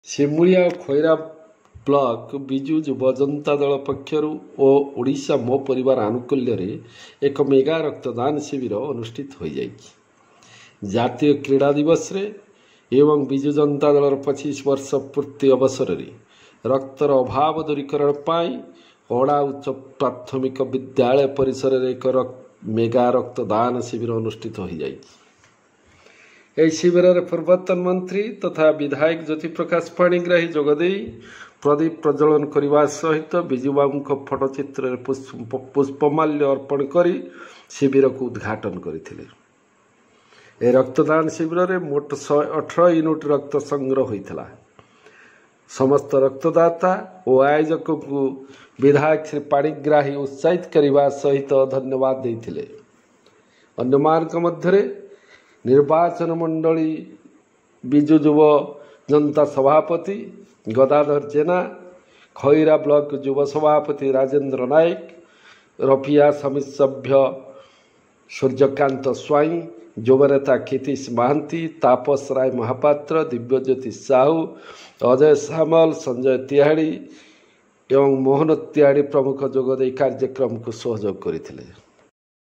ସିମୁଳିଆ ଓ Khaira block Biju ଯୁବ ଜନତା ଦଳ ପକ୍ଷରୁ ଓ ଓଡ଼ିଶା ମୋ ପରିବାର ଆନୁକୂଲ୍ୟରେ ଏକ ମେଗା ରକ୍ତଦାନ ଶିବିର ଅନୁଷ୍ଠିତ ହୋଇଯାଇଛି। ଜାତୀୟ କ୍ରୀଡ଼ା ଦିବସରେ ଏବଂ ବିଜୁ ଜନତା ଦଳର 25 ବର୍ଷ ପୂର୍ତ୍ତି ଅବସରରେ ରକ୍ତର ଅଭାବ ଦୂରୀକରଣ ପାଇଁ ଅଡ଼ା ଉଚ୍ଚ ପ୍ରାଥମିକ ବିଦ୍ୟାଳୟ ପରିସରରେ ଏକ ମେଗା ରକ୍ତଦାନ ଶିବିର ଅନୁଷ୍ଠିତ ହୋଇଯାଇଛି। ଏହି ଶିବିରରେ ପୂର୍ବତନ ମନ୍ତ୍ରୀ ତଥା ବିଧାୟକ ଜ୍ୟୋତିପ୍ରକାଶ ପାଣିଗ୍ରାହୀ ଯୋଗଦେଇ ପ୍ରଦୀପ ପ୍ରଜ୍ୱଳନ କରିବା ସହିତ ବିଜୁବାବୁଙ୍କ ଫଟୋଚିତ୍ରରେ ପୁଷ୍ପମାଲ୍ୟ ଅର୍ପଣ କରି ଶିବିରକୁ ଉଦ୍ଘାଟନ କରିଥିଲେ। ଏହି ରକ୍ତଦାନ ଶିବିରରେ ମୋଟ 118 ୟୁନିଟ୍ ରକ୍ତ ସଂଗ୍ରହ ହୋଇଥିଲା। ସମସ୍ତ ରକ୍ତଦାତା ଓ ଆୟୋଜକଙ୍କୁ ବିଧାୟକ ଶ୍ରୀ ପାଣିଗ୍ରାହୀ ଉତ୍ସାହିତ କରିବା ସହିତ ଧନ୍ୟବାଦ ଦେଇଥିଲେ। ଅନ୍ୟମାନଙ୍କ ମଧ୍ୟରେ ନିର୍ବାଚନ ମଣ୍ଡଳୀ ବିଜୁ ଯୁବ ଜନତା ସଭାପତି ଗଦାଧର ଜେନା, ଖଇରା ବ୍ଲକ ଯୁବ ସଭାପତି ରାଜେନ୍ଦ୍ର ନାୟକ, ରଫିଆ ସମିତି ସଭ୍ୟ ସୂର୍ଯ୍ୟକାନ୍ତ ସ୍ୱାଇଁ, ଯୁବନେତା କ୍ଷିତୀଶ ମହାନ୍ତି, ତାପସ ରାୟ ମହାପାତ୍ର, ଦିବ୍ୟଜ୍ୟୋତି ସାହୁ, ଅଜୟ ସାମଲ, ସଞ୍ଜୟ ତିହାଡ଼ି ଏବଂ ମୋହନ ତିହାଡ଼ି ପ୍ରମୁଖ ଯୋଗ ଦେଇ କାର୍ଯ୍ୟକ୍ରମକୁ ସହଯୋଗ କରିଥିଲେ।